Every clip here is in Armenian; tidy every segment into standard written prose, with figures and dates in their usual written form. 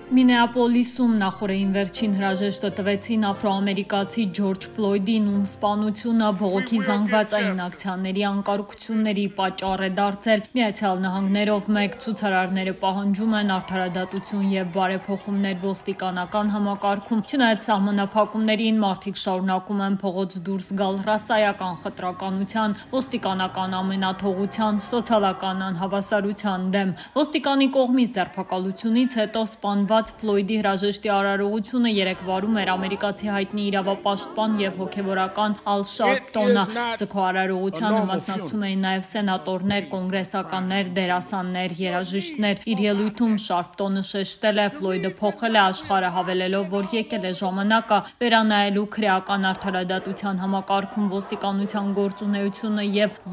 Մինեապոլիսում նախորդին վերջին հրաժեշտը տվեցին աֆրոամերիկացի Ջորջ Ֆլոյդին, ում սպանությունը բողոքի զանգվածային ակցիաների անկարգությունների պատճառ է դարձել։ Միացյալ Նահանգներով մեկ ցուցարարները պահանջում են արդարադատություն եւ բարեփոխումներ ոստիկանական համակարգում։ Չնայած սահմանափակումներին, մարդիկ շարունակում են փողոց դուրս գալ ռասայական խտրականության, ոստիկանական ամենաթողության, սոցիալական անհավասարության դեմ։ Ոստիկանի կողմից ձերբակալությունից հետո սպանված Ֆլոյդի հրաժեշտի արարողությունը երեկվարում էր ամերիկացի հայտնի իրավապաշտպան եւ հոգեվորական Ալ Շարպտոնը։ Սգո արարողությանը մասնակցում էին նաեւ սենատորներ, կոնգրեսականներ, դերասաններ, երաժիշտներ։ Իր ելույթում Շարպտոնը շեշտել է Ֆլոյդը փոխել է աշխարհը, հավելելով, որ եկել է ժամանակը վերանայելու քրեական արդարադատության համակարգում ոստիկանության գործունեությունը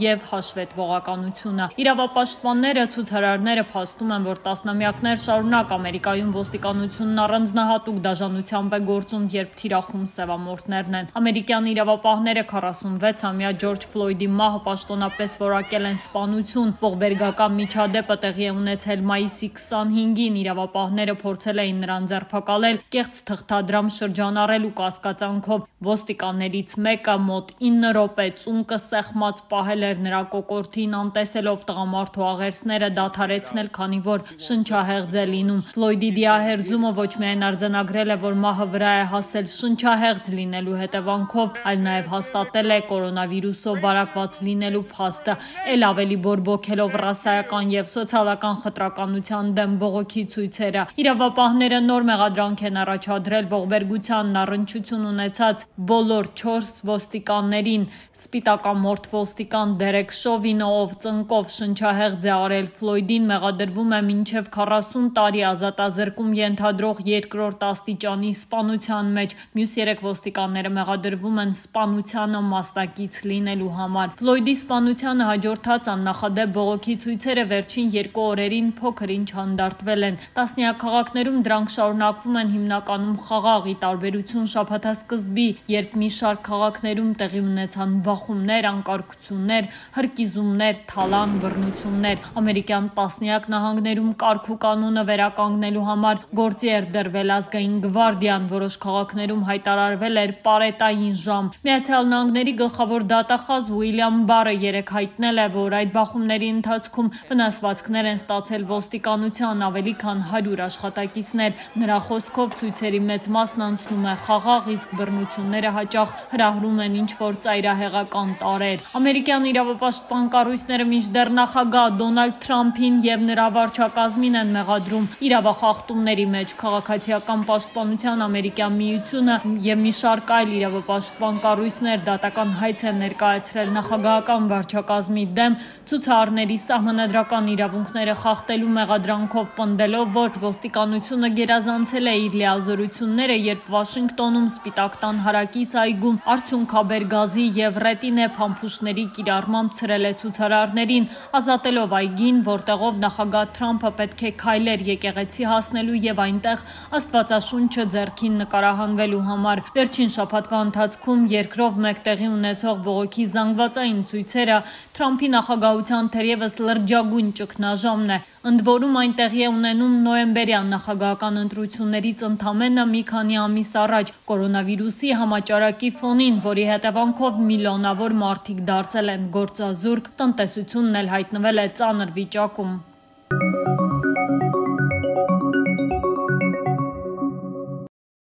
եւ հաշվետվողականությունը։ Իրավապաշտպանները, ցուցարարները փաստում են, որ տասնամյակներ շարունակ Ամերիկայում ոստիկանությունն առանձնահատուկ դաժանությամբ է գործում, երբ թիրախում սևամորթներն են։ Ամերիկյան իրավապահները 46-ամյա Ջորջ Ֆլոյդի մահը պաշտոնապես որակել են սպանություն։ Ողբերգական միջադեպը տեղի է ունեցել մայիսի 25-ին։ Իրավապահները փորձել էին նրան ձերբակալել կեղծ թղթադրամ շրջանառելու կասկածանքով։ Ոստիկաններից մեկը մոտ 9 րոպե ծունկը սեղմած պահել էր նրա կոկորդին, անտեսելով տղամարդու աղերսները դադարեցնել, քանի որ շնչահեղձ է լինում։ Ֆլոյդի դիահերձումը ոչ միայն արձանագրել է, որ մահը վրա է հասել շնչահեղձ լինելու հետևանքով, այլ նաև հաստատել է կորոնավիրուսով վարակված լինելու փաստը, ել ավելի բորբոքելով ռասայական եւ սոցիալական խտրականության դեմ բողոքի ցույցերը։ Իրավապահները նոր մեղադրանք են առաջադրել ողբերգությանն առնչություն ունեցած բոլոր 4 ոստիկաններին։ Սպիտակամորթ ոստիկան Դերեկ Շովինը, ով ծնկով շնչահեղձ է արել Ֆլոյդին, մեղադրվում է մինչև 40 տարի ազատազրկում ենթադրող երկրորդ աստիճանի սպանության մեջ։ Մյուս 3 ոստիկանները մեղադրվում են սպանությանը մասնակից լինելու համար։ Ֆլոյդի սպանությանը հաջորդած աննախադեպ բողոքի ցույցերը վերջին 2 օրերին փոքր-ինչ հանդարտվել են։ Տասնյակ քաղաքներում դրանք շարունակվում են հիմնականում խաղաղ, ի տարբերություն շաբաթասկզբի, երբ մի շարք քաղաքներում տեղի ունեցան բախումներ, անկարգություններ, հրկիզումներ, թալան, բռնություններ։ Ամերիկյան տասնյակ նահանգներում կարգ ու կանոնը վերականգնելու համար գործի էր դրվել ազգային գվարդիան, որոշ քաղաքներում հայտարարվել էր պարետային ժամ։ Միացյալ Նահանգների գլխավոր դատախազ Ուիլյամ Բարը երեկ հայտնել է, որ այդ բախումների ընթացքում վնասվածքներ են ստացել ոստիկանության ավելի քան 100 աշխատակիցներ։ Նրա խոսքով ցույցերի մեծ մասն անցնում է խաղաղ, իսկ բռնությունները հաճախ հրահրում են ինչ-որ ծայրահեղական տարրեր։ Ամերիկյան իրավապաշտպան կառույցները մինչդեռ նախագահ Դոնալդ Թրամփին եւ նրա վարչակազմին են մեղադրում իրավախախտումների մեջ։ Քաղաքացիական պաշտպանության ամերիկյան միությունը եւ մի շարք այլ իրավապաշտպան կառույցներ դատական հայց են ներկայացրել նախագահական վարչակազմի դեմ ցուցարարների սահմանադրական իրավունքները խախտելու մեղադրանքով, պնդելով, որ ոստիկանությունը գերազանցել է իր լիազորությունները, երբ Վաշինգտոնում Սպիտակ տան հարակից այգում արդյունքաբեր գազի եւ ռետինե փամփուշտների կիրառմամբ ցրել է ցուցարարներին, ազատելով այգին, որտեղով նախագահ Թրամփը պետք է քայլեր եկեղեցի հասնելու եւ այնտեղ Աստվածաշունչը ձեռքին նկարահանվելու համար։ Վերջին շաբաթվա ընթացքում երկրով մեկ տեղի ունեցող բողոքի զանգվածային ցույցերը Թրամփի նախագահության թերևս լրջագույն ճգնաժամն է։ Ընդ որում այն տեղի է ունենում նոյեմբերյան նախագահական ընտրություններից ընդամենը մի քանի ամիս առաջ, կորոնավիրուսի համաճարակի ֆոնին, որի հետևանքով միլիոնավոր մարդիկ դարձել են գործազուրկ, տնտեսությունն էլ հայտնվել է ծանր վիճակում։